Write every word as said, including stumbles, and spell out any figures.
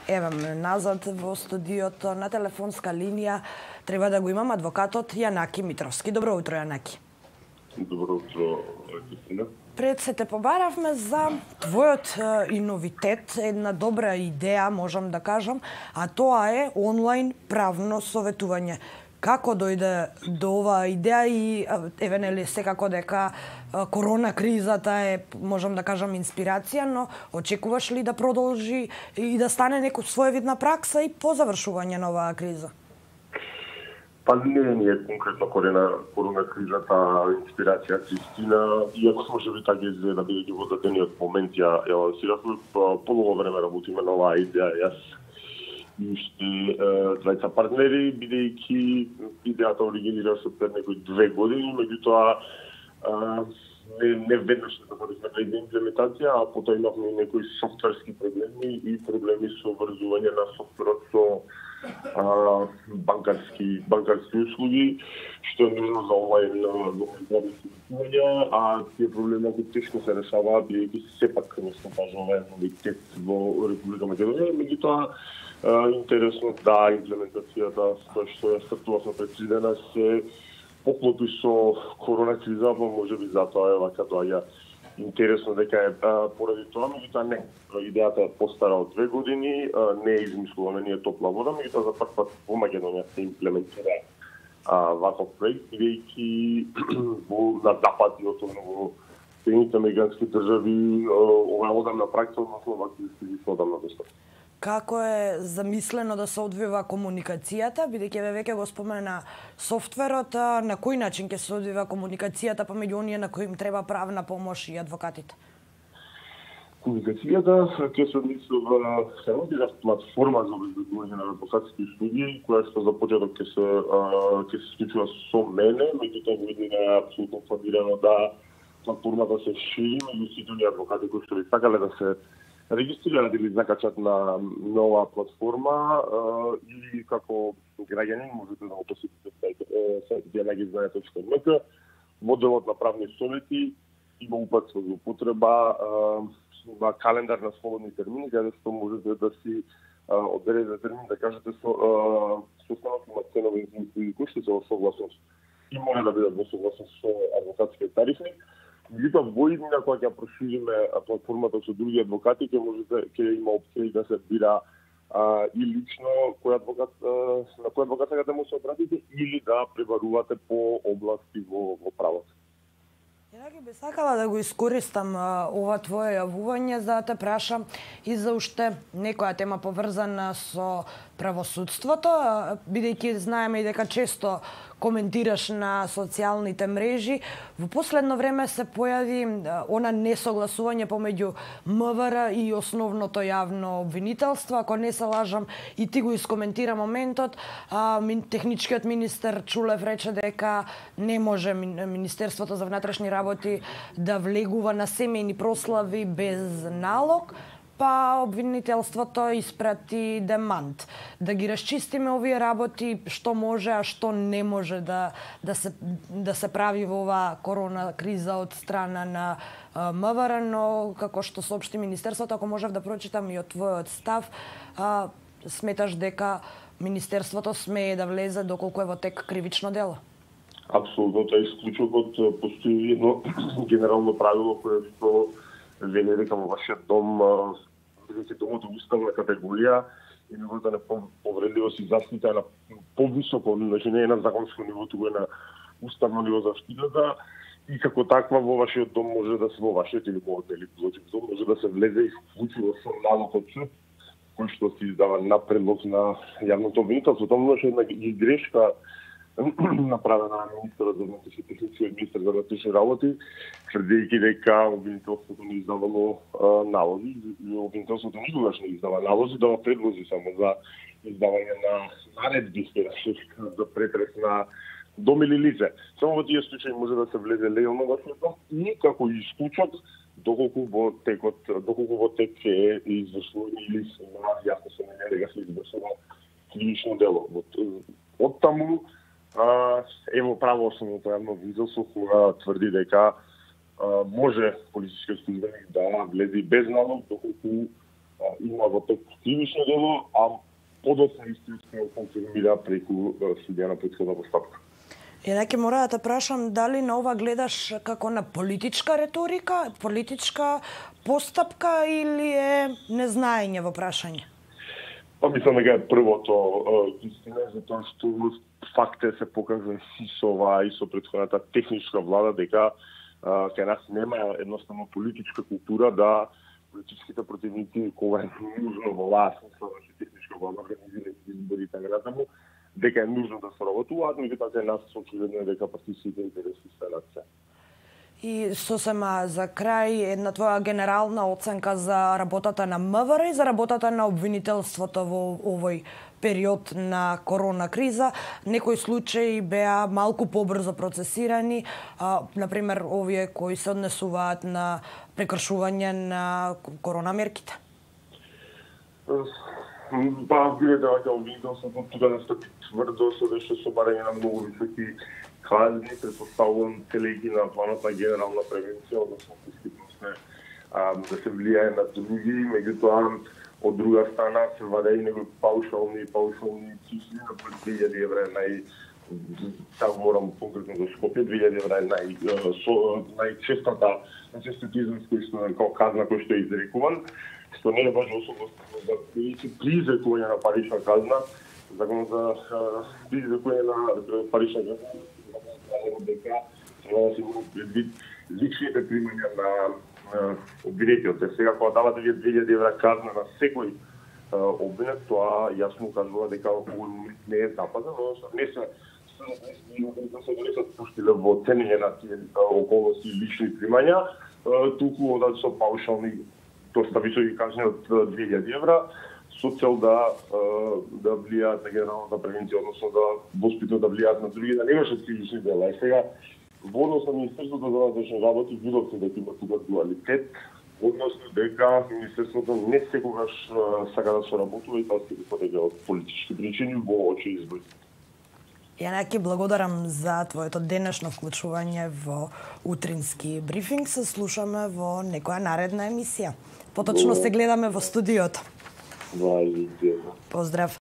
Еве ме назад во студиото на телефонска линија треба да го имам адвокатот Јанаки Митровски. Добро утро, Јанаки. Добро утро, Кристина. Пред се те побаравме за твојот и новитет, една добра идеја, можам да кажам, а тоа е онлайн правно советување. Како дојде до оваа идеја и еве нели секако дека корона кризата е, можам да кажам, инспирација, но очекуваш ли да продолжи и да стане некој своевидна пракса и по завршување на оваа криза? Па не, не е конкретно корена, корона кризата инспирација, Кристина, иако може би така изгледа, бидејќи во дадениот момент ја, ја лансиравме, помалку време работиме на оваа идеја, јас и уште тројца партнери, бидејќи идејата оригинираше пред некои две години, меѓутоа не, не веднаш да започнавме на имплементација, а потоа имавме некои софтверски проблеми и проблеми со врзување на софтверот со а, банкарски банкарски услуги, што е нужно за онлайн советување, а тие проблеми кои тешко се решаваат, бидејќи сепак не се кажува новитет во Република Македонија, меѓутоа интересно да имплементацијата која што ја стартувавме пред три дена се поклопи со корона криза, па може би затоа е вака доаѓа интересно дека е поради тоа, меѓутоа не. Идејата е постара од две години, не е измислувана ние топла вода, меѓутоа за прв пат во Македонија се имплементира ваков проект, бидејќи во на запад и особено во Соединетите американски држави ова е одамна пракса, односно вакви стиги се одамна достапни. Како е замислено да се одвива комуникацијата, бидејќи веќе го спомена софтверот, на кој начин ќе се одвива комуникацијата помеѓу оние на кои им треба правна помош и адвокатите? Комуникацијата ќе се одвива самата платформа за обезбедување на адвокатски услуги, која што за почеток ќе се ќе се случува со мене, меѓутоа во идеја е апсолутно планирано да платформата се шири меѓу сите оние адвокати кои што би сакале да се регистрираат или закачат на нова платформа или како граѓанин можете да го посетите сајт јанаки знае точка ем ка. Во делот на правни совети има упатство за употреба на календар на слободни термини, каде што можете да си одредите термин, да кажете со состанок има ценови кои што се во согласност и мора да бидат во согласност со адвокатските тарифи. Меѓутоа во иднина кога ќе прошириме платформата со други адвокати, ќе можете ќе има опција да се бира а, и лично кој адвокат а, на кој адвокат сакате да му се обратите или да пребарувате по области во во правото. Јанаки, би сакала да го искористам а, ова твое јавување за да те прашам и за уште некоја тема поврзана со правосудството, бидејќи знаеме и дека често коментираш на социјалните мрежи. Во последно време се појави она несогласување помеѓу М В Р и основното јавно обвинителство. Ако не се лажам, и ти го искоментира моментот, а, техничкиот министер Чулев рече дека не може Министерството за внатрешни работи да влегува на семејни прослави без налог, па обвинителството испрати демант. Да ги расчистиме овие работи, што може, а што не може да, да, се, да се прави во оваа корона криза од страна на М В Р, но како што соопшти Министерството, ако можев да прочитам и од твојот став, а, сметаш дека Министерството смее да влезе доколку е во тек кривично дело? Апсолутно, тоа е исклучокот. Постои едно генерално правило кое што вели дека во вашиот дом, бидејќи домот е уставна категорија и нивото на повредливост и заштита на повисоко, значи не е на законско ниво, туку е на уставно ниво заштитата, и како таква во вашиот дом може да се во вашиот или во одели дом може да се влезе исклучиво со налог од суд, кој што се издава на предлог на јавното обвинителство. Тоа може една грешка направена на министерот за внатрешни техници и министер за внатрешни работи, тврдејќи дека обвинителството не издавало налози, и обвинителството никогаш не издава налози, дава предлози само за издавање на наредби за претрес на дом или лице. Само во тие случаи може да се влезе легално во дом и како исклучок доколку во текот, доколку во тек е извршување или се јасно се не дека се извршува кривично дело. Од таму ево правосудното јавно обвинителство кога тврди дека може полицискиот службеник да влезе без налог доколку има во тек кривично дело, а подоцна истиот се конфирмира преку судија на претходна постапка. Еднакви мора да те прашам дали на ова гледаш како на политичка реторика, политичка постапка или е незнаење во прашање? Па мислам дека е првото истина, затоа што факт е се покажа и со оваа и со претходната техничка влада дека кај нас нема едноставно политичка култура да политичките противници кога е нужно во оваа смисла да техничка влада организира избори така натаму, дека е нужно да соработуваат, меѓутоа кај нас очигледно е дека партиските интереси се над се. И сосема за крај една твоја генерална оценка за работата на МВР и за работата на обвинителството во овој период на корона криза. Некои случаи беа малку побрзо процесирани, а, например овие кои се однесуваат на прекршување на корона мерките. Па, биле да ќе обвинителството тука да стапи тврдо со беше со барање на многу високи казни, предпоставувам целејќи на планот на генерална превенција, односно да се влијае на други, меѓутоа од друга страна се ваде и некои паушални паушални цифри на две илјади евра нај така говорам конкретно за Скопје, две илјади евра нај најчестата најчестиот израз кој што како казна кој што е изрекуван, што не е баш особено за при изрекување на парична казна, законот за при изрекување на парична казна дека треба да се имаат предвид личните примања на обвинетиот. Сега кога давате вие две илјади евра казна на секој обвинет, тоа јасно кажува дека овој момент не е запазен, односно не се да се не се спуштиле во ценење на тие околности и лични примања, туку одат со паушални доста високи казни од две илјади евра, со цел да да влијаат на генералната превенција, односно да воспитно да влијаат на други, да не вршат кривични дела. И сега во однос на Министерството за внатрешни работи видов се дека има тука дуалитет, односно дека Министерството не секогаш сака да соработува и тоа се дека од политички причини во очи избори. Јанаки, благодарам за твоето денешно вклучување во утрински брифинг. Се слушаме во некоја наредна емисија. Поточно се гледаме во студиото. Поздрав.